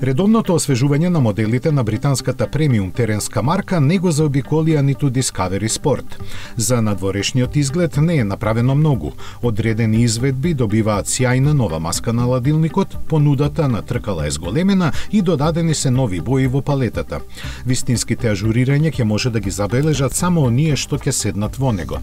Редовното освежување на моделите на британската премиум теренска марка не го заобиколија ниту Discovery Sport. За надворешниот изглед не е направено многу. Одредени изведби добиваат сјајна нова маска на ладилникот, понудата на тркала е зголемена и додадени се нови бои во палетата. Вистинските ажурирања ќе може да ги забележат само оние што ќе седнат во него.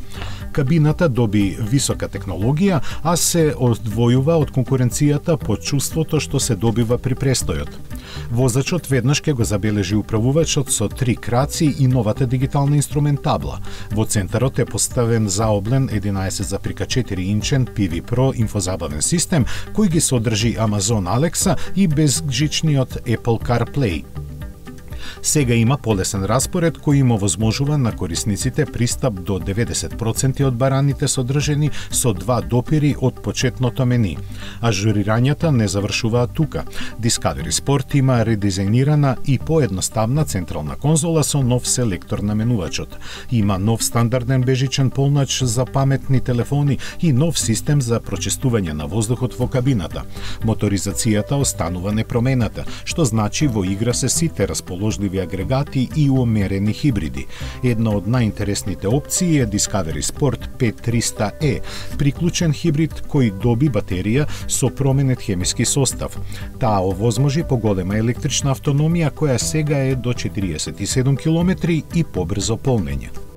Кабината доби висока технологија, а се одвојува од конкуренцијата по чувството што се добива при престојот. Возачот веднаш ќе го забележи управувачот со 3 краци и новата дигитална инструментабла. Во центарот е поставен заоблен 11,4 инчен PV Pro инфозабавен систем кој ги содржи Amazon Alexa и безжичниот Apple CarPlay. Сега има полесен распоред кој им овозможува на корисниците пристап до 90% од бараните содржени со 2 допири од почетното мени. Ажурирањата не завршуваат тука. Discovery Sport има редизајнирана и поедноставна централна конзола со нов селектор на менувачот. Има нов стандарден бежичен полнач за паметни телефони и нов систем за прочистување на воздухот во кабината. Моторизацијата останува непромената, што значи во игра се сите расположливи агрегати и умерени хибриди. Една од најинтересните опции е Discovery Sport 5300E, приклучен хибрид кој доби батерија со променет хемиски состав. Таа овозможи поголема електрична автономија која сега е до 47 км и побрзо полнење.